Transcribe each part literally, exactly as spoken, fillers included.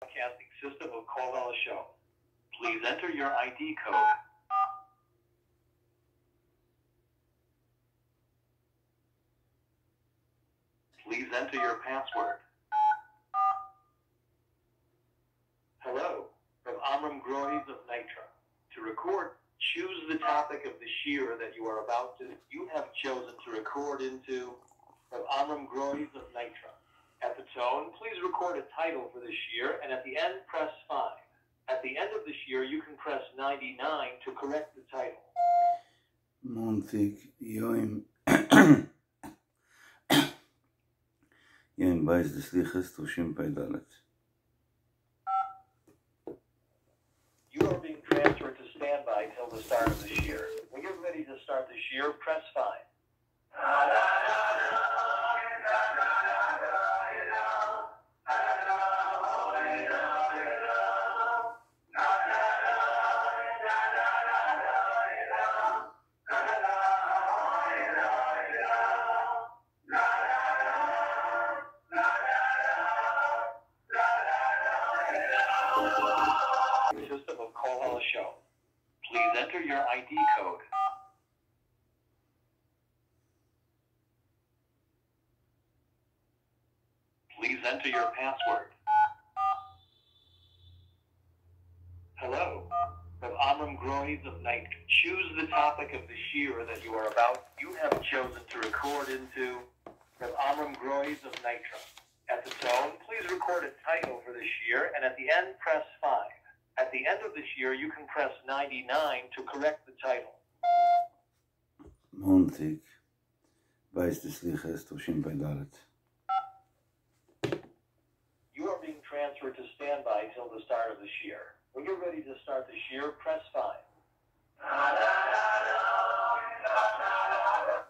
Broadcasting system of Call Show. Please enter your ID code. Please enter your password. Hello, from Amram Groys of Nitra. To record, choose the topic of the shear that you are about to, you have chosen to record into from Amram Groys of Nitra. At the tone, please record a title for the shear and at the end, press five. At the end of the shear, you can press ninety-nine to correct the title. Montig Yoim Yoim Beis des Liches Tushim Peidalet. You are being transferred to standby till the start of the shear. When you're ready to start the shear, press five. System of Call Show. Please enter your I D code. Please enter your password. Hello, from Amram Groys of Night. Choose the topic of the shear that you are about. You have chosen to record into from Amram Groys of Nitra. At the tone, please record a title for the shear, and at the end, press five. At the end of the shear, you can press ninety-nine to correct the title. Montig, Beis des Liches, Tushim Peidalet. You are being transferred to standby till the start of the shear. When you're ready to start the shear, press five.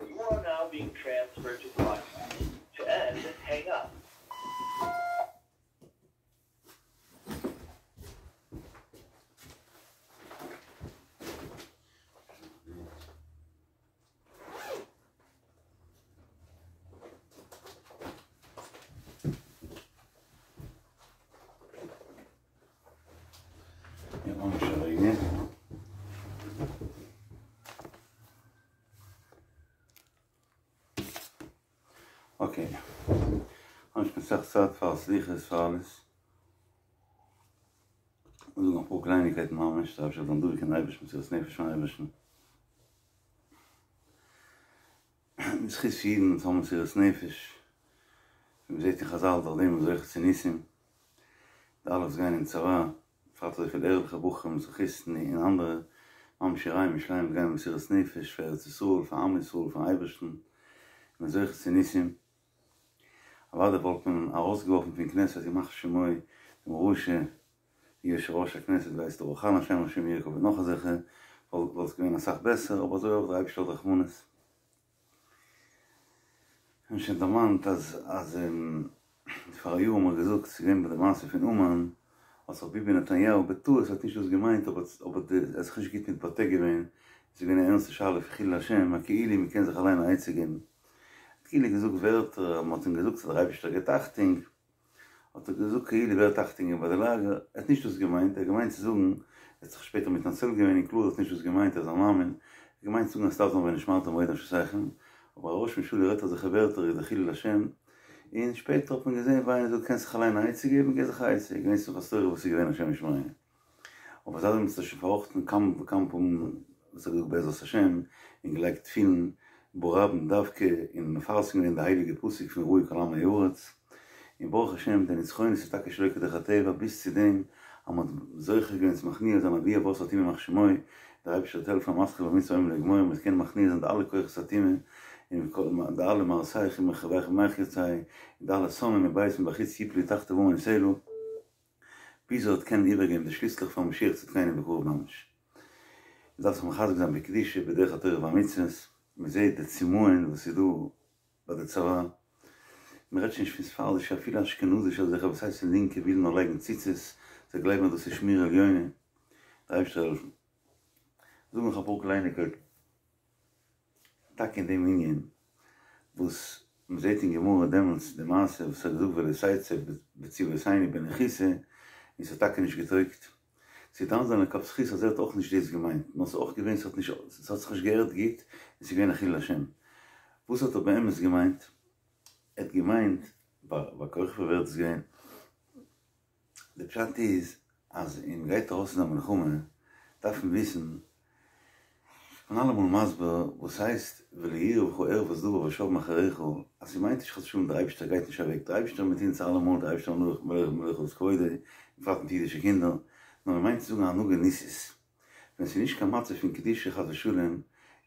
You are now being transferred to broadcast. To end, hang up. Okay. Ich bin sehr sad für Sliches, für alles. Und noch ein paar Kleinigkeiten machen, ich darf schon dann durch den Eibisch, mit das Nefisch von Eibischen. Es ist jeden, und haben sie das Nefisch. Wir sehen die Chazal, da dem, so ich Zenissim. Da alles gehen in Zara. Vater, so viel ehrliche Buchen, so Christen, in andere, Mam Shirai, Mischleim, gehen mit das Nefisch, für Yisrael, für Am Yisrael, für Eibischen. Mit solchen Zenissim. Aber da wollte man rausgeworfen von Knesset, ich mache schon mal dem Rusche, hier ist Rosh Knesset, weiß der Ochan Hashem, Hashem Yerko, und noch eine Sache, wollte es gewinnen, eine Sache besser, aber so auch drei Stunden Rachmunes. Und schon der Mann, dass, als, ähm, die Pfarrer mal gesagt, sie gehen bei der Masse von Uman, als auch Bibi Netanyahu, betu, es hat nicht was gemeint, aber, aber es ist nicht mit Partei gewesen, sie gehen eine ernste Schale für Chil Hashem, a Keili, wir können sich allein eine Eize geben. Keili gesucht Wörter, man hat ihm gesucht, der Reibisch der Getachting, hat er gesucht, Keili wer Tachting bei der Lager, er hat nicht was gemeint, er hat gemeint zu suchen, er hat sich später mit Nazel gewesen, in Klur, hat nicht was gemeint, er ist am Amen, er hat gemeint zu suchen, es darf noch wenn ich mal, dann weiter zu sagen, aber Rosh Mishuli redt er sich Wörter, der Chil Hashem, und später hat man gesehen, weil er so, kannst dich allein eine Eize geben, geh sich Eize, ich weiß nicht, was du, was sie gewesen, Hashem Yishmael. Aber seit dem sich verrochten, kam, kam, um, was er gesagt, Bezos Hashem, in gelegt vielen, Boraben Davke in Farsing in der heilige Pusik von Ruhe Kalam Joretz. In Baruch Hashem, denn es ist Tag Schlöcke der Chateva bis zu dem am solche ganz machnier dann wir was hat immer mach der hab ich hotel von Maske mit so einem Legmoy mit kein machnier sind alle koch satime in der alle Marseille im Chabach mach jetzt sei da alle Sonne mit weiß und bachitz jipli tachte wo man selo bis dort kein übergeben der Schlüssel vom Schier zu kleine Bekur Mensch. Das man hat gesagt bekdische bederach hat er mitzes מזה את הצימון וסידור בדצרה. מרד שנשפספר זה שאפילו אשכנוזי של זה חבסי של לינקה ויל נולג מציצס, זה גלייב מדוס שמיר עליונה. דרייב של זו מחפור קלייניקל. טאק אין dem עניין, ווס מזייטין גמור הדמלס דמאסה וסגדוק ולסייצה בציו וסייני בנחיסה, און ס'האט טאקע נישט געטויגט. צו דן זיין לכף זכות אז ער האט אויך נישט דאס געמיינט, נאר ס'איז אויך געווען ס'האט נישט ס'האט זיך נישט געהערט גוט און ס'איז געווען א חילול השם. וואס האט ער באמת געמיינט? ער האט געמיינט ביי כוכבא ווער איז דאס געווען? די פשט איז אז ווען מ'גייט ארויס אין א מלחמה דארף מען וויסן, כ'בין אלעמאל מסביר וואס הייסט ולא יראה בך ערות דבר ושב מאחריך, אז ס'מיינט נישט חס ושלום דער אייבישטער גייט נישט אוועק, דער אייבישטער איז מיט אונז אלעמאל, דער אייבישטער מלוך מלך מלוך על כבודו, בפרט מיט אידישע קינדער, נאר מ'מיינט צו זאגן א הנהגה ניסית, ווען ס'איז נישט קיין מצב פון קדושה חס ושלום,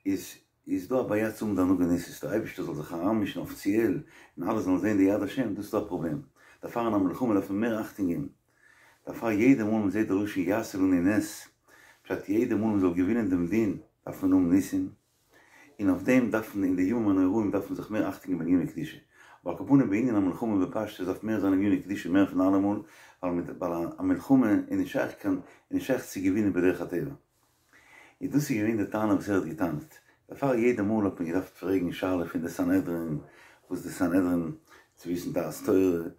איז איז דא א בעיה צו האבן די הנהגה ניסית, דער אייבערשטער זאל זיך אריינמישן אפיציעל און אלע זאלן זען די יד השם, דאס איז דא א פראבלעם, דערפאר אין א מלחמה דארף מען מער אכטונג געבן, דערפאר יעדע מאל מען זעט די לשון יעשה לנו נס, פשט יעדע מאל מען זאל געווינען דעם דין דארף מען האבן ניסים, און אויף דעם דארף מען אין די ימים הנוראים דארף מען זיך מער אכטונג געבן בעניני קדושה, אבער על כל פנים בענין המלחמה בפשטות דארף מער זיין עניני קדושה מער פון אלעמאל, ווייל א מלחמה איז נישט שייך קיין איז נישט שייך צו געווינען בדרך הטבע. און דאס איז געווען די טענה וואס ער האט געטענה'ט, דערפאר יעדע מאל האט מען געדארפט פרעגן שאלה פון די סנהדרין, וואס די סנהדרין צו וויסן דעת תורה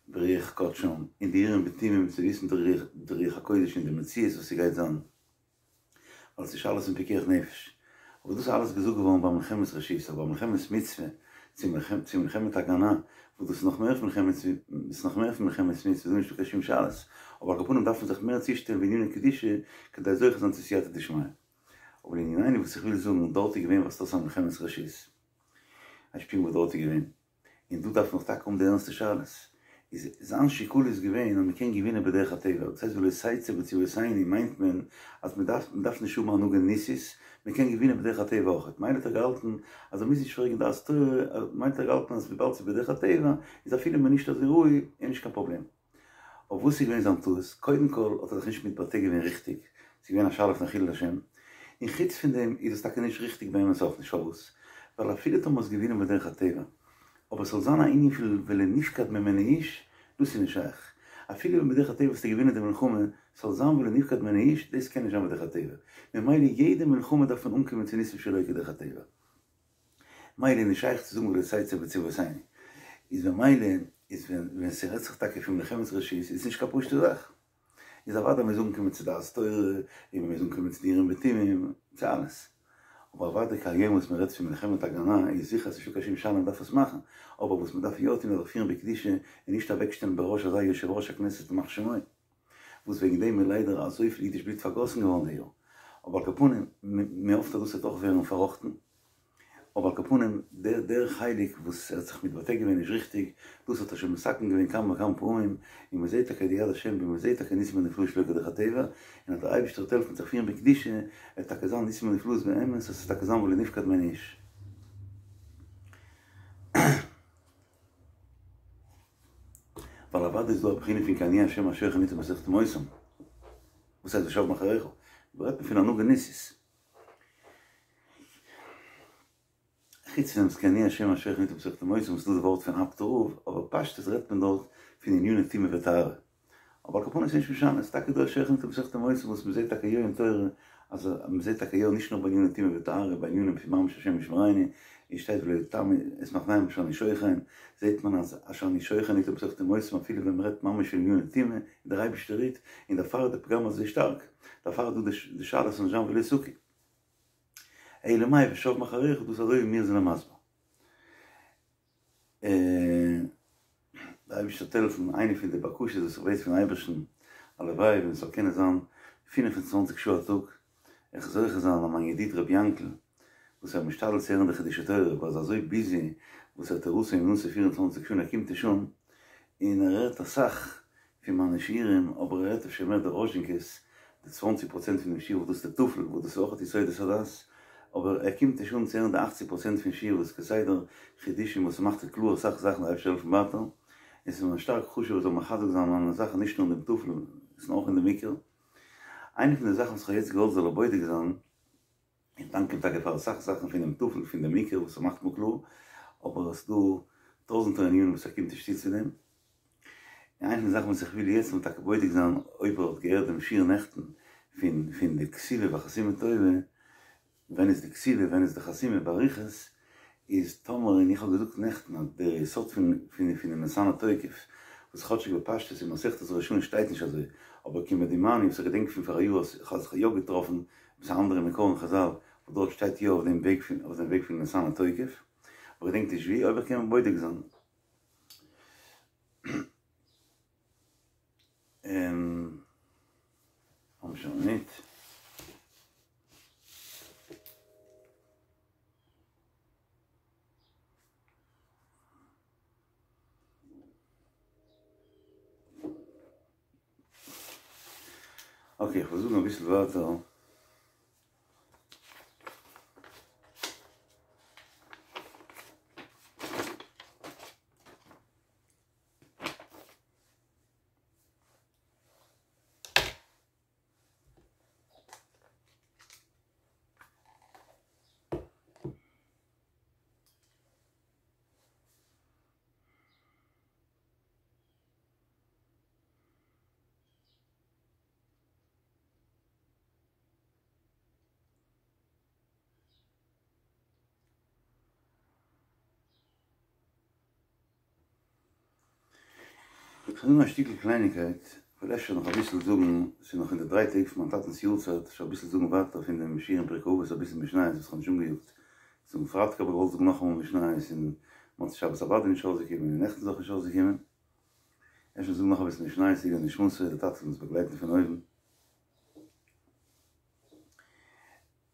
ברוח קדשם, און די אורים ותומים צו וויסן די רוח הקודש און די מציאות וואס ס'גייט זיין, ווייל ס'איז שאלות פון פיקוח נפש. אבער דאס איז אלעס געזאגט געווארן ביי מלחמת רשות, אבער ביי מלחמת מצוה, צו מלחמת הגנה, וואס דאס איז נאך מער פון מלחמת, איז נאך מער פון מלחמת מצוה, איז דא נישטא קיין שום שאלות, אבער על כל פנים דארף מען זיך מער צושטעלן בעניני קדושה כדי זוכה זיין צו סייעתא דשמיא. אבער לענינינו וואס איך וויל זאגן, דארט איז געווען וואס דאס א מלחמת רשות. א שפינג וואס דארט איז געווען. און דא דארף מען דאך טאקע האבן די ערנסטע שאלות. איז זיין שיקול איז געווען אז מען קען געווינען בדרך הטבע, דאס הייסט ולא תצא בצבאותינו מיינט מען אז מען דארף מען דארף נישט האבן הנהגה ניסית, מען קען געווינען בדרך הטבע אויכעט, מילא האט ער געהאלטן אז ער מוז נישט פרעגן דעת תורה, מילא האט ער געהאלטן אז וויבאלד ס'איז בדרך הטבע איז אפילו מען נישט אזוי ראוי איז נישט קיין פראבלעם. אבער וואס איז געווען זיין טעות? קודם כל האט ער זיך נישט מתבטא געווען ריכטיג, ס'איז געווען א שאלה פון חילול השם, און חוץ פון דעם איז עס טאקע נישט ריכטיג באמת אויך נישט, פארוואס? ווייל אפילו טאמער האסט געווינען בדרך הטבע, אבער ס'זאל זיין א ענין פון ולא נפקד ממנו איש, דאס איז נישט שייך. אפילו ווען בדרך הטבע האסטו געווינען די מלחמה, ס'זאל זיין ולא נפקד ממנו איש, דאס קען נישט זיין בדרך הטבע. ממילא יעדע מלחמה דארף מען אנקומען צו ניסים שלא כדרך הטבע. מילא איז נישט שייך צו זאגן ולא תצא בצבאותינו. איז ממילא איז ווען ווען ס'רעדט זיך טאקע פון מלחמת רשות איז נישט קיין פשוטע זאך. איז אוודאי מ'מוז אנקומען צו דעת תורה, און מ'מוז אנקומען צו די אורים ותומים, צו אלעס. אבער אוודאי כהיום וואס מ'רעדט פון מלחמת הגנה איז זיכער אז ס'נישטא קיין שום שאלה מ'דארף עס מאכן, אבער וואס מ'דארף יא טון איז זיך פירן בקדושה און נישט אוועקשטעלן בראש אזא יושב ראש הכנסת ימח שמו, וואס וועגן דעם איז ליידער אזויפיל אידיש בלוט פארגאסן געווארן די יאר. אבער על כל פנים, מ'האפט אז דאס וועט אויך ווערן פארראכטן. אבער על כל פנים, דער דער חלק וואס ער האט זיך מתבטא געווען נישט ריכטיג, דאס האט ער שוין מתקן געווען כמה וכמה פעמים, און מען זעט טאקע די יד השם ווי מען זעט טאקע ניסים ונפלאות שלא כדרך הטבע, און אז דער אייבערשטער וועט העלפן זיך פירן בקדושה, וועט טאקע זיין ניסים ונפלאות באמת, עס וועט טאקע זיין ולא נפקד ממנו איש. ווייל אוודאי איז דא א בחינה פון כי אני השם השוכן אתם בתוך טומאותם, וואס הייסט ושב מאחריך? דא רעדט מען פון הנהגה ניסית. חוץ פון דעם כי אני השם השוכן אתם בתוך טומאותם וואס איז דא די ווארט פון אפטער רב, אבער פשטות רעדט מען דארט פון עניני טומאה וטהרה. אבער על כל פנים איז נישט משנה, ס'איז טאקע דא שוכן אתם בתוך טומאותם וואס מ'זעט טאקע יא אין תורה, אז מ'זעט טאקע יא נישט נאר בעניני טומאה וטהרה, בענינים פון ממש השם ישמרינו, ווי שטייט ולא יטמא את מחניהם אשר אני שוכן, זעט מען אז אשר אני שוכן אתם בתוך טומאותם אפילו ווען מ'רעדט ממש פון עניני טומאה, איז דער אייבערשטער רוהט, און דערפאר איז די פגם אזוי שטארק. דערפאר איז דא די שאלה ס'זאל נישט זיין ולא תקיא. אלא מאי ושב מאחריך דאס איז אזוי ווי מיר זענען מסביר. דער אייבערשטער זאל העלפן, איינע פון די בקשות וואס איך בעט פון אייבערשטן, הלוואי ווען ס'זאל קענען זיין פֿינף און צוואַנציק שעה א טאג, איך זאל זוכה זיין אז מיין ידיד רבי יענקל, וואס ער איז משתדל צו הערן די חידושי תורה, אבער איז אזוי ביזי, וואס ער האט תורתו אומנותו פֿיר און צוואַנציק שעה און ער קומט נישט אן, און ער הערט אסאך פון מיינע שיעורים, אבער ער הערט אפשר מער די ראזשינקעס, די צוואנציג פראצענט פון דעם שיעור וואס דאס איז די טפל, וואס דאס איז אויך יסודות הדת, אבער ער קומט נישט אן צו הערן די אכציג פראצענט פון שיעור וואס איז כסדר חידושים וואס ס'מאכט קלאר אסאך זאכן דער אייבערשטער זאל העלפן ווייטער, און ס'איז מיר שטארק חשוב ער זאל מחזק זיין מיינע זאכן נישט נאר אין דעם טפל, נאר אויך אין דעם עיקר. איינע פון די זאכן וואס איך האב יעצט געוואלט זאל ער בודק זיין, איך דאנק אים טאקע פאר אסאך זאכן פונעם טפל פון דעם עיקר וואס ער מאכט מיר קלאר, אבער עס איז דא טויזענטער ענינים וואס ער קומט נישט צו צו דעם. און איינע פון די זאכן וואס איך וויל יעצט זאל מען טאקע בודק זיין אויב ער האט געהערט דעם שיעור נעכטן פון פון די כתיבה וחתימה טובה, ווען איז די כתיבה ווען איז די חתימה באריכות, איז טאמער און איך האב געזאגט נעכטן אז דער יסוד פון פון פונעם ונתנה תוקף וואס כאטשיג בפשטות אין מסכת ראש השנה שטייט נישט אזוי, אבער כמדומני וואס איך געדענק פון פאראיאר אז איך האב זיך יא געטראפן עפעס א אנדערע מקור אין חזל וואס דארט שטייט יא אויף דעם וועג פון אויף דעם וועג פון ונתנה תוקף, אבער געדענק נישט ווי, אויב איך קען בודק זיין. האבן שוין א מינוט. אקעי, איך וועל זאגן אביסל ווייטער. כ'וועל זאגן א שטיקל קלייניקייט, כ'וועל אפשר נאך אביסל זאגן, ס'איז נאך אין די דריי טעג פון מיין טאטנ'ס יארצייט, אפשר אביסל זאגן ווייטער פון דעם שיעור אין פרקי אבות אביסל משניות וואס כ'האב נישט אנגעיאגט זאגן פרייטאג האב איך געוואלט זאגן נאכאמאל משניות און מוצאי שבת אוודאי נישט אויסגעקומען און נעכטן איז אויך נישט אויסגעקומען, אפשר זאגן נאך אביסל משניות לעילוי נשמתו, דער טאטע זאל אונז באגלייטן פון אויבן.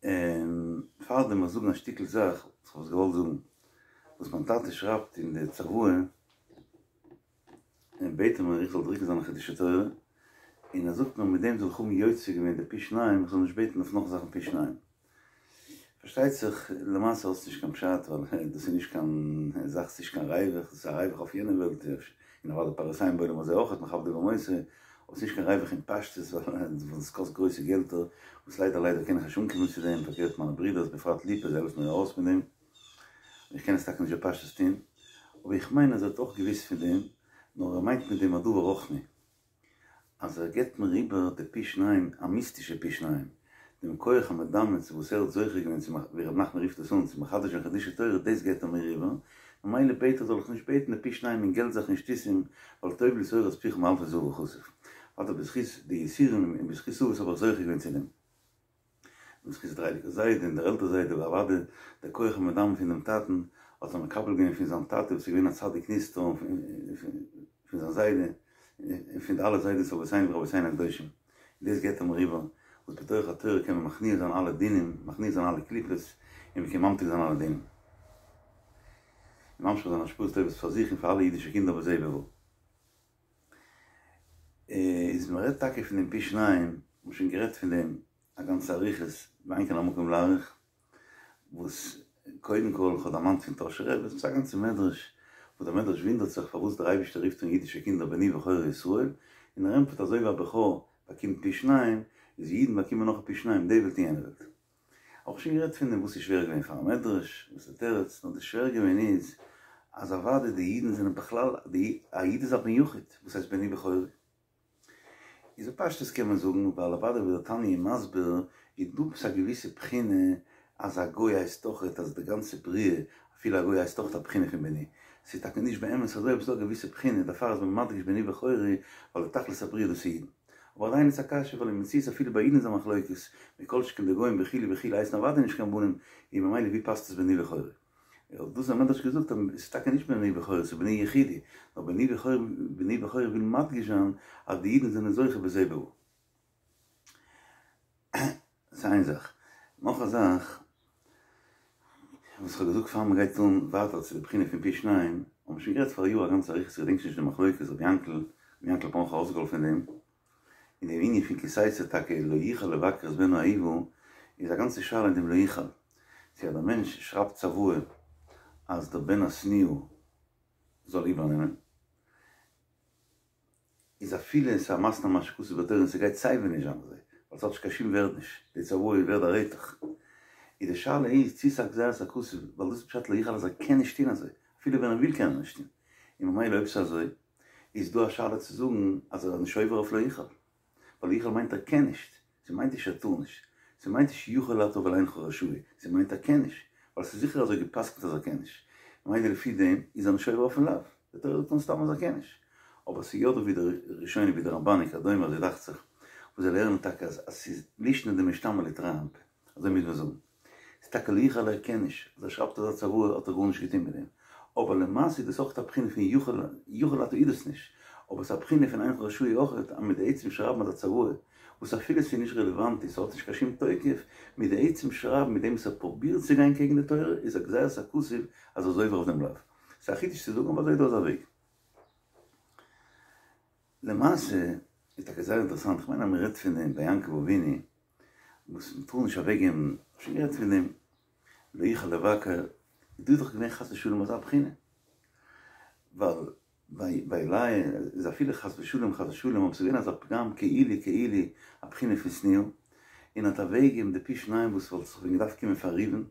און פארדעם וועל איך זאגן א שטיקל זאך וואס כ'האב עס געוואלט זאגן, וואס מיין טאטע שרייבט אין די צוואה, און בעט ער מיר איך זאל דרוקן זיינע חידושי תורה, און ער זאגט מיר מיט דעם זאל איך האבן יוצא געווען די פי שניים, איך זאל נישט בעטן אויף נאך זאכן פי שניים. פארשטייט זיך למעשה האט עס נישט קיין פשט ווייל דאס איז נישט קיין זאך, ס'נישט קיין ריווח, דאס איז א ריווח אויף יענע וועלט, און אוודאי פרסיים בעולם הזה אויך מכבדו במותו, אבער ס'נישט קיין ריווח אין פשטות ווייל עס קאסט גרויסע געלטער, וואס ליידער ליידער קען איך נישט אנקומען צו דעם, פארקערט מיינע ברידערס בפרט ליפא זיי העלפן מיר ארויס מיט דעם, און איך קען עס טאקע נישט בפשטות טון, אבער איך מיין אז ער האט אויך געוואוסט פון דעם, נאר ער מיינט מיט דעם א דבר רוחני. אז ער געבט מיר איבער די פי שניים, א מיסטישע פי שניים, דעם כח המדמה צו וואס ער האט זוכה געווען צו ווי ר' נחמן רופט עס אן, צו מחדש זיין חידושי תורה, דאס געבט ער מיר איבער, ממילא בעט ער זאל איך נישט בעטן די פי שניים אין געלט זאכן און שטותים, ווייל טוב לי תורת פיך מאלפי זהב וכסף. אדער בזכות די יסורים און בזכות אבות האב איך זוכה געווען צו דעם. בזכות דער הייליגער זיידע און דער עלטער זיידע ואוודאי דער כח המדמה פון דעם טאטן האט ער מקבל געווען פון זיין טאטע וואס איז געווען א צדיק נסתר און פון זיין זיידע און פון די אלע זיידעס אבותינו ורבותינו הקדושים און דאס געבט ער מיר איבער וואס בתוך התורה קען מען מכניע זיין אלע דינים מכניע זיין אלע קליפות און מען קען ממתיק זיין אלע דינים און ממשיך זיין השפעות טובות פאר זיך און פאר אלע אידישע קינדער בזה ובבא. איז מען רעדט טאקע פון דעם פי שניים, מ'האט שוין גערעדט פון דעם א גאנצע אריכות, ואין כאן המקום להאריך, וואס קודם כל כ'האב דערמאנט פון טאהשער רבי, ס'איז א גאנצע מדרש, וואס דער מדרש וואונדערט זיך פארוואס דער אייבערשטער רופט אן אידישע קינדער בני בכורי ישראל, און ער ענטפערט אזוי ווי א בכור באקומט פי שניים, איז אידן באקומען נאך א פי שניים די וועלט און יענע וועלט. אויך שוין גערעדט פון דעם וואס איז שווער געווען פארן מדרש, וואס איז די תירוץ, נאר די שווער געווען איז אז אוודאי די אידן זענען בכלל, די א איד איז א בן יחיד, וואס הייסט בני בכורי? איז בפשטות קען מען זאגן ווייל אוודאי ווי דער תניא איז מסביר איז דא עפעס א געוויסע בחינה אז א גוי הייסט אויכעט אז די גאנצע בריאה אפילו א גוי הייסט אויכעט א בחינה פון בני, ס'איז טאקע נישט באמת אזוי אבער ס'איז דא א געוויסע בחינה דערפאר איז מען מדגיש בני בכורי ווייל די תכלית הבריאה דאס איז אידן. אבער עדיין איז א קשיא ווייל אין מציאות אפילו ביי אידן איז א מחלוקת, מכל שכן די גוים וכו' וכו' הייסן אוודאי נישט קיין בנים, און ממילא ווי פאסט עס בני בכורי? האט דאס דער מדרש געזאגט אז עס איז טאקע נישט בני בכורי עס איז בני יחידי, נאר בני בכורי בני בכורי וויל מדגיש זיין אז די אידן זענען זוכה בזה ובבא. ס'איז איין זאך. נאך א זאך וואס כ'האב געזאגט פאר מ'גייט אן ווייטער צו די בחינה פון פי שניים, האבן מיר שוין גערעדט פאריאר א גאנצע אריכות, כ'געדענק שוין נישט די מחלוקת, רבי יענקל, רבי יענקל האט מיר אויך ארויסגעהאלפן אין דעם, אין דעם ענין פון כי תצא טאקע לא יוכל לבכר את בנו אהובה, איז א גאנצע שאלה אין דעם לא יוכל, צו אז דער מענטש שרייבט צוואה אז דער בן השנואה זאל איבערנעמען, איז אפילו עס איז א מתנה מה שכתוב בתורה און ס'גייט סייווי נישט זיין אזוי, ווייל ס'האט נישט קיין שום ווערד נישט, די צוואה איז ווערד א רעטעך. איז די שאלה איז צו ס'איז א גזירת הכתוב, ווייל דאס איז פשט לא יוכל אז ער קען נישט טון אזוי, אפילו ווען ער וויל קען ער נישט טון, און ממילא אויב ס'איז אזוי איז דא א שאלה צו זאגן אז ער איז נישט עובר אויף לא יוכל, ווייל לא יוכל מיינט ער קען נישט, ס'מיינט נישט ער טאר נישט, ס'מיינט נישט יכול אתה אבל אינך רשאי, ס'מיינט ער קען נישט, ווייל ס'איז זיכער אזוי גע'פסק'נט אז ער קען נישט, ממילא לפי דעם איז ער נישט עובר אויפן לאו, די תורה זאגט אונז סתם אז ער קען נישט, אבער ס'איז יא דא ווי די ראשונים ווי די רמבן וכדומה אזוי דאכט זיך וואס זיי לערנען טאקע אז אז ס'איז לישנא דמשתמע לתרי אנפי אזוי מוז מען זאגן ס'איז טאקע לא יוכל ער קען נישט אז ער שרייבט אזא צוואה האט ער גארנישט געטון מיט דעם אבער למעשה איז דאס אויך א בחינה פון יכול יכול אתה איז דאס נישט אבער ס'איז א בחינה פון אינך רשאי אויך אז מיט די עצם שרייבן אזא צוואה וואס אפילו ס'איז נישט רעלעוואנט און ס'האט נישט קיין שום תוקף, מיט די עצם שרייבן מיט דעם וואס ער פרובירט צו גיין קעגן די תורה איז א גזירת הכתוב אז ער איז עובר אויף דעם לאו. ס'איז א חידוש צו זאגן אבער אזוי איז דא אזא וועג. למעשה איז טאקע זייער אינטערעסאנט, כ'מיין אז מ'רעדט פון דעם ביי יעקב אבינו וואס מ'טאר נישט אוועקגעבן, שוין גערעדט פון דעם, לא יוכל לבקר, דא איז דאך געווען חס ושלום אזא בחינה, ווייל ביי לאה איז אפילו חס ושלום חס ושלום אבער ס'איז געווען אזא פגם כאילו כאילו א בחינה פון שנואה, און האט אוועקגעגעבן די פי שניים וואס וואלט זיך ווען געדארפט קומען פאר ראובן,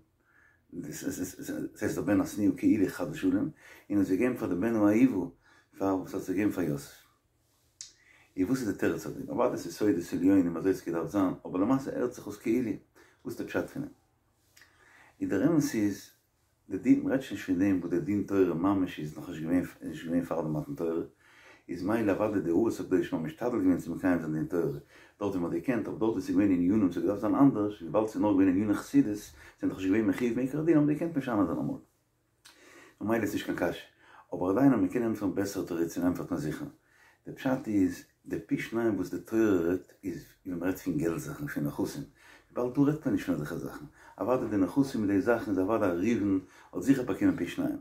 דאס הייסט דער בן השנואה כאילו חס ושלום, און האט עס געגעבן פאר די בן האהובה פאר וואס האט עס געגעבן פאר יוסף. און וואס איז די תירוץ אויף דעם? אוודאי ס'איז סודות עליונים אזוי האט עס געדארפט זיין, אבער למעשה הערט זיך אויס כאילו, וואס איז די פשט פון דעם? און דער אמת איז, די דין, מ'רעדט שוין נישט פון דעם וואס די דין תורה ממש איז נאך נישט געווען, איז נישט געווען פאר די מתן תורה, איז מילא אוודאי די אבות הקדושים האבן משתדל געווען צו מקיים זיין דין תורה, דארט ווי מ'האט געקענט, אבער דארט ווי ס'איז געווען ענינים ס'האט געדארפט זיין אנדערש, וויבאלד ס'איז נאר געווען עניני חסידות, זענען דאך נישט געווען מחיוב מעיקר הדין האבן געקענט משנה זיין אמאל. ממילא איז נישט קיין קשיא. אבער עדיין אז מ'קען ענטפערן בעסערע תירוצים ענטפערט מען זיכער. די פשט איז, די פי שניים וואס די תורה רעדט איז ווען מ'רעדט פון געלט זאכן, פון נכסים. וויבאלד דא רעדט מען נישט פון אזעלכע זאכן. אוודאי די נכסים מיט די זאכן איז אוודאי ראובן האט זיכער באקומען פי שניים.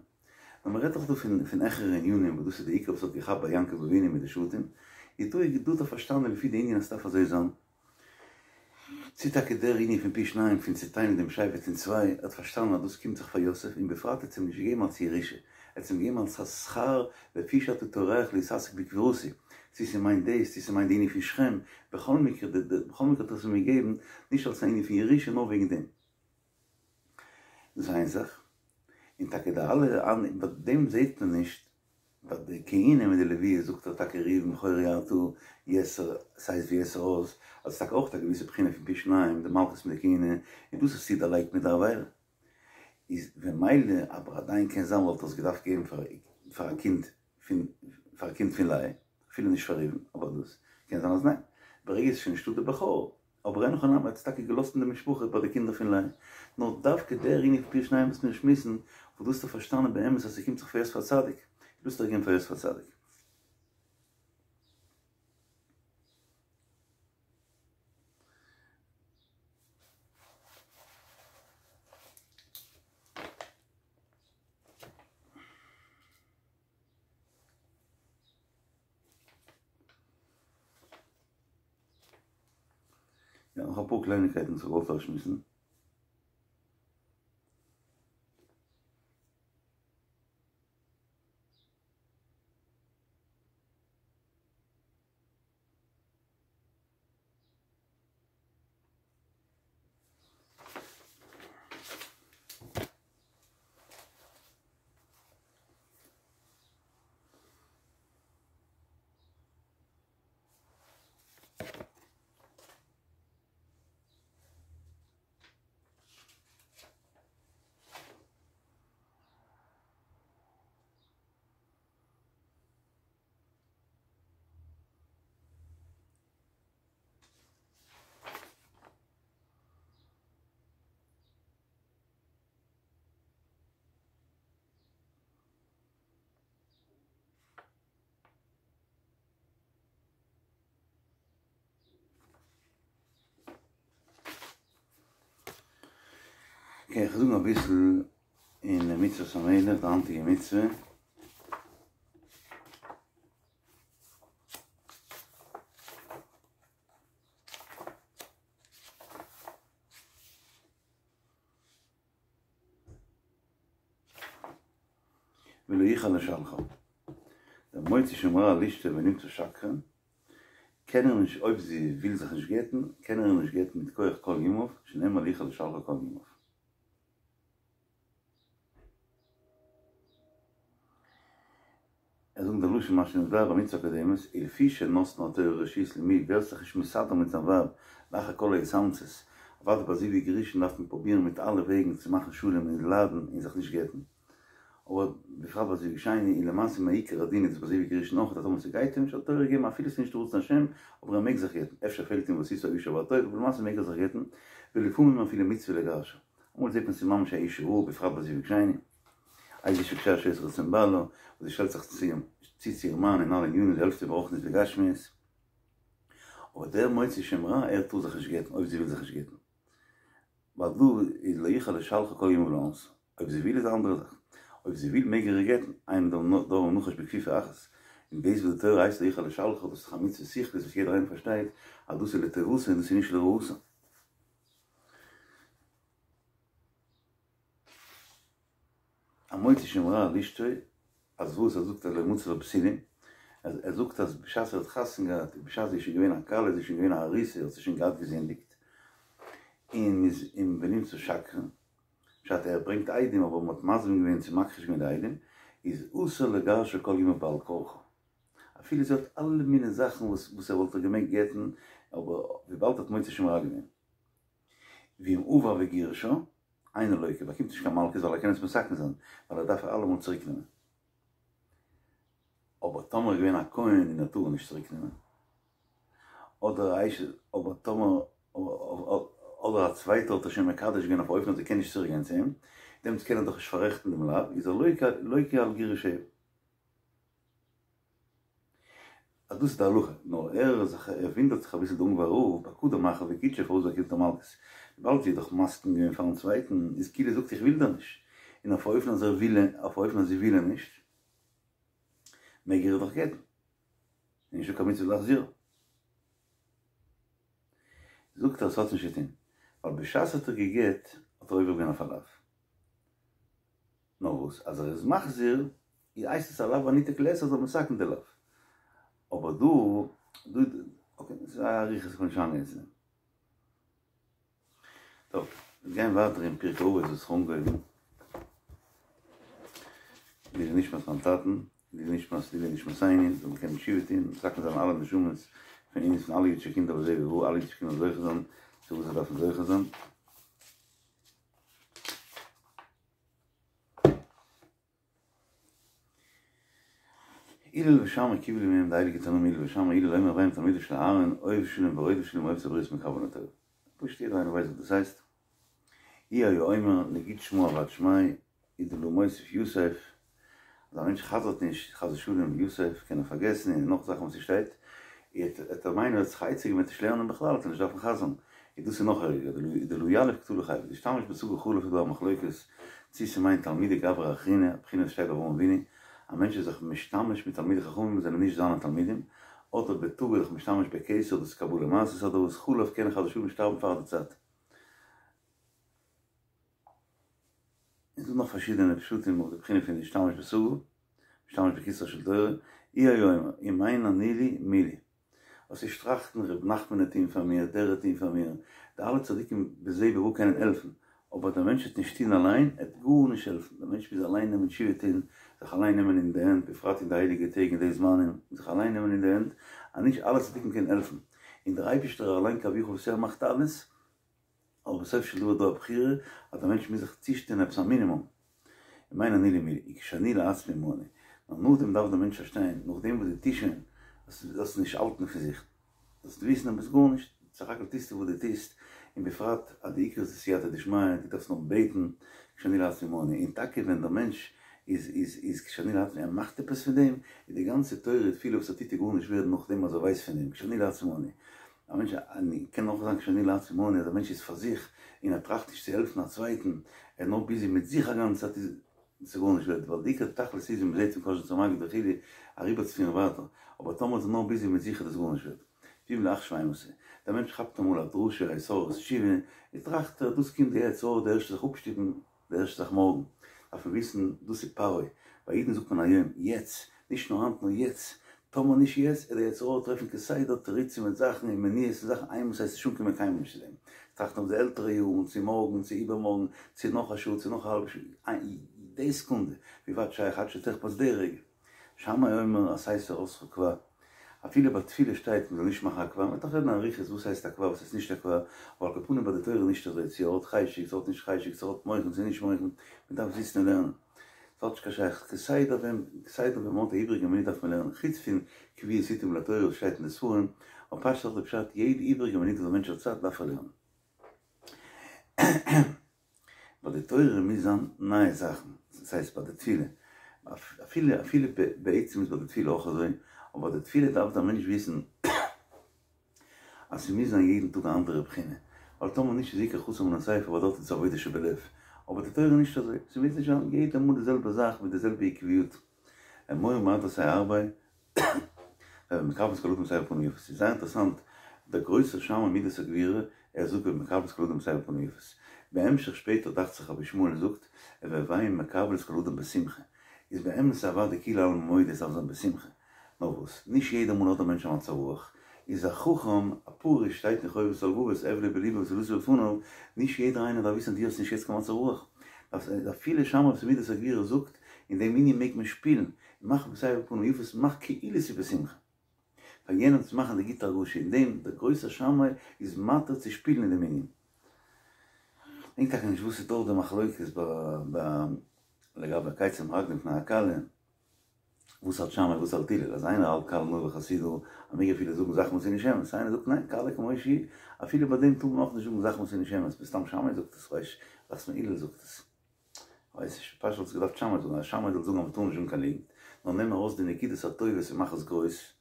נאר מ'רעדט דאך דא פון פון העכערע ענינים וואס דאס איז די עיקר וואס האט געכאפט ביי יעקב אבינו מיט די שבטים. איז דא איז דא האט ער פארשטאנען לפי די ענין אז ס'דארף אזוי זיין. צי טאקע דער ענין פון פי שניים פון צוטיילן דעם שבט אין צוויי, ער האט פארשטאנען אז דאס קומט זיך פאר יוסף און בפרט האט עס אים נישט געגעבן אלס ירושה, ער האט עס אים געגעבן אלס א שכר לפי שאתה טורח להתעסק בקבורתי, צי ס'מיינט דאס צי ס'מיינט די ענין פון שכם, בכל מקרה בכל מקרה האט ער עס אים געגעבן נישט אלס א ענין פון ירושה נאר וועגן דעם. דאס איז איין זאך, און טאקע די אלע ביי דעם זעט מען נישט ביי די כהונה מיט די לוויה זאגט ער טאקע ראובן בכורי אתה יתר ס'הייסט ויתר עוז אז ס'איז טאקע אויך א געוויסע בחינה פון פי שניים די מלכות מיט די כהונה און דאס האסטו דערלייגט מיט די עבירה איז במילא אבער עדיין קען זיין וואלט ער עס געדארפט געבן פאר פאר א קינד פון פאר א קינד פון לאה אפילו נישט פאר ראובן אבער דאס קען זיין אז ניין ברגע ס'איז שוין נישטא די בכור אבער אין הכי נמי האט עס טאקע געלאזט אין די משפחה ביי די קינדער פון לאה. נאר דווקא דער ענין פון פי שניים וואס מיר שמועסן, וואס דאס האט ער פארשטאנען באמת אז ס'קומט זיך פאר יוסף הצדיק, דאס האט ער געגעבן פאר יוסף הצדיק. יא, נאך אפאר קלייניקייטן וואס איך וואלט אויסשמועסן. אקעי, איך זאג אביסל אין מצוות המלך, די היינטיגע מצוה. ולא יוכל לשלחה. דער מוציא שם רע על אשתו ונמצא שקרן, קען ער נישט אויב זי וויל זיך נישט גט'ן, קען ער איר נישט גט'ן מיט כח כל ימיו, שנאמר לא יוכל לשלחה כל ימיו. ער זאגט די לשון מה שנתבאר במצוה הקודמת, ולפי שנתנה התורה רשות למי ווער ס'זיך נישט מסדר מיט זיין ווייב לאחר כל ההתאמצות, אוודאי ביי זיווג ראשון דארף מען פרובירן מיט אלע וועגן צו מאכן שלום און ליידן און זיך נישט גט'ן, אבער בפרט ביי זיווג שני און למעשה מעיקר הדין איז ביי זיווג ראשון אויך אז טאמער ס'גייט אים נישט האט תורה געגעבן אפילו ס'איז נישט רצון השם אבער ער מעג זיך גט'ן אפשר פעלט אים ועשית האשה והטוב אבער למעשה מעג ער זיך גט'ן ולפעמים אפילו מצוה לגרשה אמאל זעט מען ס'איז ממש א אשה רעה בפרט ביי זיווג שני איזו אשה כשרה שעושה רצון בעלה וואס זי שטעלט זיך צו צו צו איר מאן אין אלע ענינים זי העלפט אים ברוחניות וגשמיות אבער דער מוציא שם רע ער טאר זיך נישט גט'ן אויב זי וויל זיך נישט גט'ן ווייל דא איז לא יוכל לשלחה כל ימיו לאונסה. אויב זי וויל איז א אנדערע זאך. אויב זי וויל מעג ער איר גט'ן, אין דבר נחש בכפיפה אחת. און דאס וואס די תורה הייסט לא יוכל לשלחה דאס איז דאך א מצוה שכלית וואס יעדער איינער פארשטייט אז דאס איז לטובתה און דאס איז נישט לרעתה. המוציא שם רע על אשתו, אז וואס ער זאגט אז לא מצא לה בתולים, ער זאגט אז בשעת ער האט חתונה געהאט, בשעת זי איז שוין געווען א כלה, זי איז שוין געווען א ארוסה, האט זי שוין געהאט געזינדיגט, און מ'איז און ונמצא שקרן, פשט ער ברענגט עדים אבער מ'האט מזים געווען צו מכחיש געווען די עדים, איז אסור לגרשה כל ימיו בעל כרחה. אפילו זי האט אלע מיני זאכן וואס וואס ער וואלט איר געמעגט גט'ן, אבער וויבאלד ער האט מוציא שם רע געווען. ואם עבר וגירשה, אינו לוקה, באקומט נישט קיין מלקות ווייל ער קען עס מתקן זיין, ווייל ער דארף איר אלעמאל צוריק נעמען. אבער טאמער איז געווען א כהן און ער טאר איר נישט צוריק נעמען. אדער א אשת אבער טאמער אדער א צווייטער האט איר שוין מקדש געווען אויף א אופן אז זי קען נישט צוריק גיין צו אים, דעמאלטס קען ער דאך נישט פאררעכטן דעם לאו, איז ער לוקה על גירושיה. אז דאס איז די הלכה, נאר ער איז זיך ער ווינדערט זיך אביסל די אונגוואר רב, בקדם אחר וקידשה פארוואס באקומט ער מלקות, וויבאלד זי האט דאך מסכים געווען פארן צווייטן, איז כאילו זאגט איך וויל דיר נישט, און אויף א אופן אז ער וויל אויף א אופן אז זי וויל אים נישט, מעג ער איר דאך גט'ן. און נישטא קיין מצוה להחזירה. זאגט ער ס'האט נישט צו טון, ווייל בשעת האט ער געגעט האט ער עובר געווען אויף א לאו. נאר וואס אז ער איז מחזיר הייסט עס א לאו הניתק לעשה אז ער מתקן די לאו. אבער דא דא אקעי ס'איז א אריכות איך וויל נישט אריינגיין צו דעם. טוב, מיר גייען ווייטער אין פרקי אבות וואס איך האב אנגעהויבן. לעילוי נשמת מיין טאטן, לעילוי נשמת לעילוי נשמתינו, זאל מען קענען תשובה טון, מתקן זיין אלע נשמות פון אונז פון אלע אידישע קינדער בזה ובבא, אלע אידישע קינדער זוכה זיין צו וואס זיי דארפן זוכה זיין. הלל ושמאי קיבלו מהם די הייליגע תנאים הלל ושמאי הלל אומר הוי מתלמידיו של אהרן אוהב שלום ורודף שלום אוהב את הבריות ומקרבן לתורה. פשוט יעדער איינער ווייסט וואס דאס הייסט. הוא היה אומר נגיד שמא אבד שמיה הוא דלא מוסיף יתיב אז א מענטש חזר'ט נישט חס ושלום יתיב קען ער פארגעסן און נאך זאכן וואס ס'שטייט וועט ער מיינען ער האט זיך א עצה געגעבן וועט נישט לערנען בכלל וועט ער נישט דארפן חזר'ן איז דאס איז נאך ערגער דלא יליף קטלא חייבי דאשתמש בסגי חלף איז דא א מחלוקת צי ס'מיינט תלמידי גברא אחרינא א בחינה וואס שטייט ביי אברהם אבינו א מענטש איז זיך משתמש מיט תלמידי חכמים וואס זענען נישט זיינע תלמידים אדער בתגא זיך משתמש בכתר דאס איז קבלה מעשית אדער וואס חלף קען חס ושלום שטארבן פאר די צייט. איז דא נאך פארשידענע פשטים אויף די בחינה פון להשתמש בסגי, משתמש בכתרה של תורה, הוא היה אומר, אם אין אני לי מי לי. וואס איז טראכטן ר' נחמן וועט טוהן פאר מיר, דער וועט טוהן פאר מיר, די אלע צדיקים בזה ובבא קענען העלפן, אבער דער מענטש וועט נישט טוהן אליין, עט גארנישט העלפן, דער מענטש מוז אליין נעמען תשובה טוהן, זיך אליין נעמען אין די הענט, בפרט אין די הייליגע טעג אין די זמנים, זיך אליין נעמען אין די הענט, אז נישט אלע צדיקים קענען העלפן, און דער אייבערשטער אליין כביכול וואס ער מאכט אלעס, אבער בסוף של דבר איז דא א בחירה אז דער מענטש מוז זיך צושטעלן עפעס א מינימום, אם אין אני לי מי לי, כשאני לעצמי מה אני, נאר נאכדעם דארף דער מענטש פארשטיין, נאכדעם וואס דו טוסט שוין, זאלסטו נישט האלטן פון זיך, זאלסטו וויסן אז ביסט גארנישט, סך הכל טוסטו וואס דו טוסט, און בפרט אז די עיקר איז די סייעתא דשמיא, דו דארפסט נאר בעטן, כשאני לעצמי מה אני, און טאקע ווען דער מענטש איז איז איז כשאני לעצמי ער מאכט עפעס פון דעם, איז די גאנצע תורה תפילה וואס ער טוט איז גארנישט ווערד נאכדעם אז ער ווייסט פון דעם, כשאני לעצמי מה אני. א מענטש קען אויך זיין כשאני לעצמי מה אני אז א מענטש איז פאר זיך און ער טראכט נישט צו העלפן א צווייטן, ער איז נאר ביזי מיט זיך א גאנצע צייט איז עס גארנישט ווערט, ווייל די עיקר תכלית איז ווי מ'זעט פון קאזשניצער מגיד וכו' אריבערצופירן ווייטער, אבער טאמער איז ער נאר ביזי מיט זיך איז דאס גארנישט ווערט. ואם לעכשיו אימתי, דער מענטש כאפט אמאל א דרשה, א התעוררות תשובה, און טראכט ער דאס קומט די יצר הרע די ערשטע זאך אפשטופן, די ערשטע זאך מארגן, דארף מען וויסן, דאס איז פרעה, ביי אידן זאגט מען היום, יעצט, נישט נאר היינט נאר יעצט, טאמער נישט יעצט, וועט די יצר הרע טרעפן כסדר תירוצים מיט זאכן און מניעות און זאכן איינמאל ס'הייסט נישט אנקומען קיינמאל נישט צו דעם, טראכטן אויף די עלטערע יארן, צו מארגן, צו איבערמארגן, צו נאך א שעה, צו נאך א האלבע שעה, די סעקונדע, ווי ווייט שייך עד שתחפץ די רגע. שמאי אומר עשה תורתך קבע, אפילו ביי תפילה שטייט מ'זאל נישט מאכן א קבע, מ'וועט נאך רעדן אריכות וואס הייסט א קבע וואס הייסט נישט א קבע, אבער על כל פנים ביי די תורה איז נישט אזוי, צו ער האט חשק צו ער האט נישט חשק, צו ער האט מוחין צו נישט מוחין, מ'דארף זיצן און לערנען. ס'האט נישט קיין שייכות, כסדר ווען כסדר ווען מ'האט א איבריגע מינוט דארף מען לערנען, חוץ פון קביעות עתים לתורה וואס שטייט אין די ספרים, אבער פשט איז דאך די פשט, יעדע איבריגע מינוט וואס א מענטש האט צייט דארף ער לערנען. ביי די תורה מוז זיין נייע זאכן, דאס הייסט ביי די תפילה, אפילו אפילו בעצם איז ביי די תפילה אויך אזוי, אבער ביי די תפילה דארף דער מענטש וויסן אז ס'מוז זיין יעדן טאג א אנדערע בחינה, ווייל טאמער נישט איז עיקר חסר מן הספר ווייל דארט איז עבודה שבלב, אבער די תורה איז נישט אזוי, ס'מוז נישט זיין יעדע מאל די זעלבע זאך מיט די זעלבע עקביות, אמור מעט ועשה הרבה, הוי מקבל את כל אדם בסבר פנים יפות, ס'איז זייער אינטערעסאנט, דער גרויסער שמאי מידת הגבורה, ער זאגט הוי מקבל את כל אדם בסבר פנים יפות, בהמשך שפעטער דאכט זיך רבי ישמעאל זאגט, הוי מקבל את כל אדם בשמחה, איז באמת אוודאי כולי עלמא מודה עס דארף זיין בשמחה, נאר וואס, נישט יעדע מאל האט דער מענטש א מצב רוח, איז א חכם, א פרוש, שטייט אין חובת הלבבות, אבלו בלבו ותהלתו בפניו, נישט יעדער איינער דארף וויסן אז דו האסט נישט יעצט קיין מצב רוח, אפילו שמאי וואס מידת הגבורה זאגט, אין דעם ענין מעג מען שפילן, מאך בסבר פנים יפות, מאך כאילו ס'איז בשמחה. פאר יענעם צו מאכן די גוטע הרגשה, אין דעם דער גרויסער שמאי איז מתיר צו שפילן אין דעם ענין. כ'דענק טאקע נישט וואס איז דארט די מחלוקת ביי לגבי כיצד מרקדין לפני הכלה. וואס האלט שמאי וואס האלט הלל אז איינער האלט כלה נאה וחסידה אז מ'מעג אפילו זאגן זאכן וואס איז נישט אמת איינער זאגט ניין כלה כמו שהיא אפילו ביי דעם טאר מען אויך נישט זאגן זאכן וואס איז נישט אמת מסתם שמאי זאגט עס כ'ווייס דאכט זיך מיר הלל זאגט עס כ'ווייס נישט פשט וואלט עס געדארפט שמאי זאגן אז שמאי זאל זאגן אז מ'טאר נישט זאגן קיין ליגנט נאר נעם ארויס די נקודות הטובות און מאך עס גרויס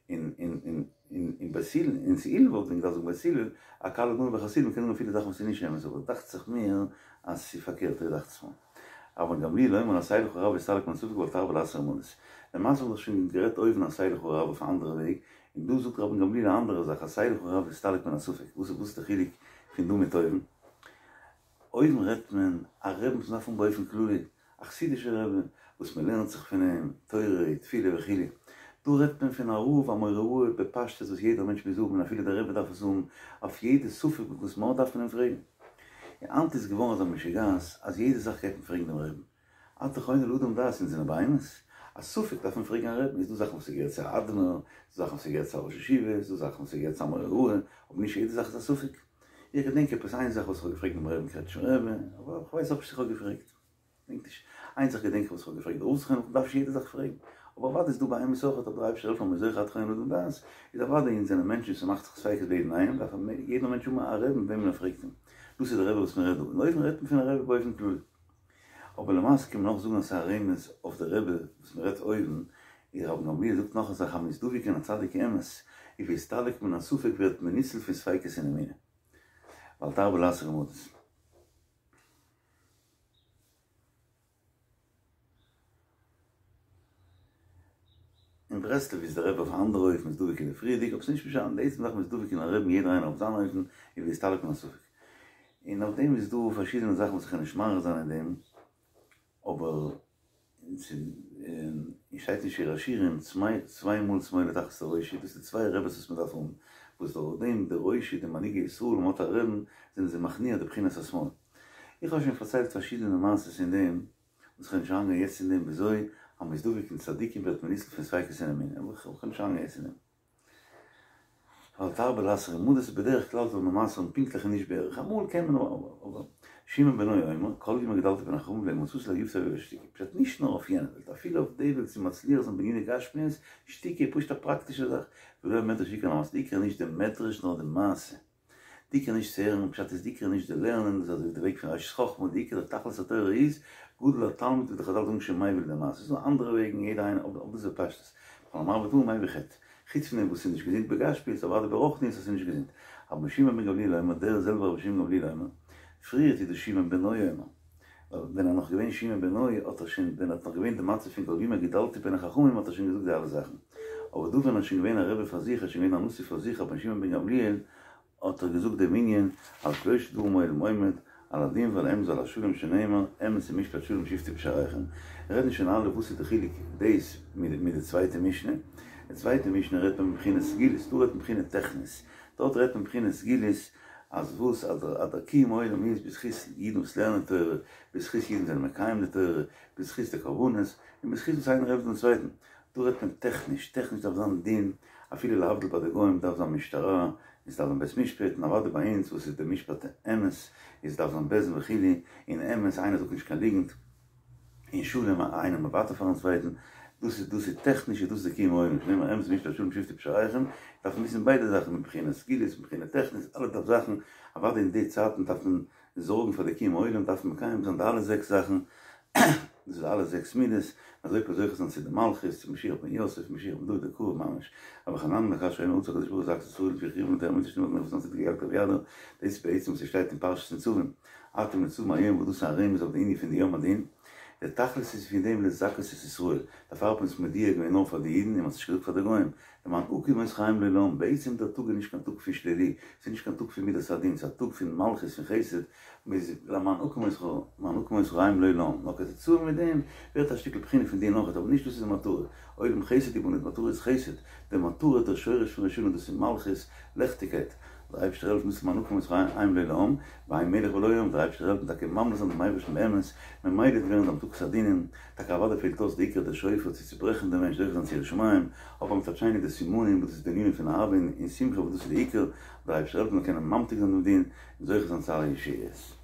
און און און און און בית הלל און צו הלל וואלט מען געדארפט זאגן בית הלל א כלה נאה וחסידה מ'קען זאגן אפילו זאכן וואס איז נישט אמת אבער דאכט זיך מיר אז ס'איז פארקערט אזוי דאכט זיך מיר. רבן גמליאל אומר עשה לך רב והסתלק מן הספק ואל תרבה לעשות רמאות. למעשה האבן מיר דאך שוין גערעדט אויבן עשה לך רב אויף א אנדערע וועג, און דא זאגט רבן גמליאל א אנדערע זאך עשה לך רב והסתלק מן הספק, וואס איז די חילוק פון דא מיט אויבן? אויבן רעדט מען א רבי וואס מ'דארף האבן באופן כללי, א חסידישע רבי וואס מ'לערנט זיך פון אים תורה, תפילה וכו', דא רעדט מען פון א רב א מורה הוראה בפשטות וואס יעדער מענטש מוז האבן און אפילו דער רבי דארף עס האבן, אויף יעדע ספק וואס מ'האט דארף מען אים פרעגן. און היינט איז געווארן אזא משוגעת אז יעדע זאך גייט מען פרעגן דעם רעבן. אתה חונן לאדם דעת אונז זענען בהמות? א ספק דארף מען פרעגן א רעבן, איז דא זאכן וואס ס'געהערט צו א אדמור, איז דא זאכן וואס ס'געהערט צו א ראש ישיבה, איז דא זאכן וואס ס'געהערט צו א מורה הוראה, אבער נישט יעדע זאך איז א ספק. איך געדענק עפעס איין זאך וואס איך האב געפרעגט דעם רעבן קרעטשניפער רבי, אבער כ'ווייס אויך נישט צו איך האב געפרעגט. געדענק נישט. איין זאך געדענק איך וואס איך האב געפרעגט די רב זכרונו לברכה, מ'דארף נישט יעדע זאך פרעגן. אבער אוודאי איז דא בהמות אויך, אבער דער אייבערשטער זאל העלפן אז מ'איז זוכה אתה חונן לאדם דעת, איז אוודאי אונז זענען מענטשן וואס ס'מאכט זיך ספיקות ביי יעדן איינעם, דארף יעדער מענטש האבן א רעבן וועמען ער פרעגט אים. דאס איז דער רבי וואס מ'רעדט דא. און אויבן רעדט מען פון א רבי באופן כללי. אבער למעשה קען מען אויך זאגן אז ס'איז א רמז אויף די רבי וואס מ'רעדט אויבן, איז רבן גמליאל זאגט נאך א זאך המתדבק אין א צדיק אמת, והסתלק מן הספק ווערט מען ניצול פון ספיקות אין אמונה. ואל תרבה לעשות רמאות. אין ברסלב איז דער רבי אויף א אנדערע אופן מתדבק אין די פריערדיגע אבער ס'איז נישט משנה די עצם זאך מתדבק אין א רבי'ן יעדער איינער אויף זיין אופן און והסתלק מן הספק און אויף דעם איז דא פארשידענע זאכן וואס איך קען נישט מאריך זיין אין דעם אבער און שטייט אין שיר השירים צוויי מאל שמאלו תחת לראשי דאס איז די צוויי רבי'ס וואס מען דארף האבן וואס דורך דעם די ראשי די מנהיגי ישראל ווען מען האט א רבי'ן זענען זיי מכניע די בחינת השמאל איך האב שוין פארציילט פארשידענע מעשות אין דעם וואס כ'וועל נישט אריינגיין יעצט אין דעם וויאזוי אז מ'איז דבוק אין צדיקים ווערט מען ניצול פון ספיקות אין אמונה אבער כ'וועל נישט אריינגיין יעצט אין דעם. ואל תרבה לעשות רמאות איז בדרך כלל זאל מען מסר'ן פונקטליך און נישט בערך, אמאל קען מען אבער שמעון בנו אומר כל ימי גדלתי בין החכמים ולא מצאתי להיותי אוהב שתיקה, פשט נישט נאר אויף יענע וועלט אפילו אויף די וועלט צו מצליח זיין בעניני גשמיות, שתיקה איז פשוט א פראקטישע זאך, ולא המדרש עיקר אלא המעשה, די עיקר איז נישט די מדרש נאר די מעשה. די עיקר נישט צו הערן, פשט איז די עיקר נישט די לערנען, דאס איז אזוי ווי די וועג פון ראשית חכמה, די עיקר די תכלית התורה איז, גדול התלמוד ווי די חזל זאגן שמביא לידי מעשה, ס'איז דא אנדערע וועגן יעדער איינער אבער דאס איז בפשטות, כל המרבה דברים מביא חטא, חוץ פון דעם וואס ס'איז נישט געזונט בגשמיות אוודאי ברוחניות אז ס'איז נישט געזונט, רבן שמעון בן גמליאל אומר, דער זעלבער רבי שמעון גמליאל אומר, פריערט איז דאס שמעון בנו אומר, ווייל ווען ער נאך געווען שמעון בנו האט ער שוין ווען ער האט נאך געווען די מצב פון כל ימי גדלתי בין החכמים האט ער שוין געזאגט די אלע זאכן, אבער דא ווען ער איז שוין געווען א רבי פאר זיך ער איז שוין געווען א נשיא פאר זיך רבן שמעון בן גמליאל האט ער געזאגט דעם ענין על שלשה דברים העולם עומד, על הדין ועל האמת ועל השלום שנאמר, אמת ומשפט שלום שפטו בשעריכם. רעדן שוין אלע וואס איז די חילוק דאס מיט די צווייטע משנה, די צווייטע משנה רעדט מען מבחינת סגולות, דא רעדט מען מבחינה טכנית, דארט רעדט מען מבחינת סגולות אז וואס אז דער קיום העולם איז בזכות אידן וואס לערנען תורה, בזכות אידן זענען מקיים די תורה, בזכות די קרבנות, און בזכות וואס איינער העלפט דעם צווייטן. דא רעדט מען טעכניש, טעכניש דארף זיין דין, אפילו להבדיל ביי די גוים דארף זיין משטרה, און ס'דארף זיין בית משפט, און אוודאי ביי אונז וואס איז די משפט אמת, איז דארף זיין בית דין וכו', און אמת, איינער זאגט נישט קיין ליגנט, און שלום, איינער מוותר פארן צווייטן, דאס איז דאס איז טעכניש איז דאס די קיום העולם, שנאמר אמת משפט שלום שפטו פשעיכם, דארף מען וויסן ביידע זאכן מבחינת סגולות מבחינה טעכניש, אלע דארף זאכן, אוודאי אין די צייטן דארף מען זארגן פאר די קיום העולם דארף מען מקיים זיין די אלע זעקס זאכן, דאס איז אלע זעקס מידות, אזוי קען זוכה זיין צו די מלכות, צו משיח בן יוסף, משיח בן דוד בקרוב ממש. רבי חננאל כאשר אומר רצה הקדוש ברוך הוא לזכות את ישראל לפיכך הרבים תורה ומצוות שנאמר ונתתי צדק בידו, דאס איז בעצם וואס ס'שטייט אין פרשת נצבים, אתם נצבים היום וואס דאס איז א רמז אויף די ענין פון די יום הדין, די תכלית איז פון דעם לזכות את ישראל, דערפאר האט מען עס מודיע געווען נאר פאר די אידן און מען האט עס נישט געזאגט פאר די גוים, למען הקים אותך היום לעולם, בעצם דער טאג איז נישט קיין טאג פון שלילי, ס'איז נישט קיין טאג פון מידת הדין, ס'איז א טאג פון מלכות פון חסד, מ'איז למען הקים אותך, למען הקים אותך היום לעולם, נאר כתוצאה מיט דעם ווערט א שטיקל בחינה פון דין אויכעט, אבער נישט דאס איז די מטרה, עולם חסד יבנה, די מטרה איז חסד, די מטרה דער שורש פון ראש השנה דאס איז מלכות, לעכטיגקייט, דער אייבערשטער העלפן דאס למען הקים אותך היום לעולם, ואין מלך בלא עם, דער אייבערשטער העלפן טאקע ממליך זיין דעם אייבערשטן באמת, ממילא וועט ווערן די המתקת הדינים, טאקע אוודאי פעלט אויס די עיקר דער שופר צו צוברעכן דעם מענטש זוכה זיין צו יראת שמים, אבער מצד שני די סימנים וואס דאס איז די ענינים פון אהבה און שמחה וואס דאס איז די עיקר, דער אייבערשטער העלפן מיר קענען ממתיק זיין דעם דין און זוכה זיין צו אלע ישועות.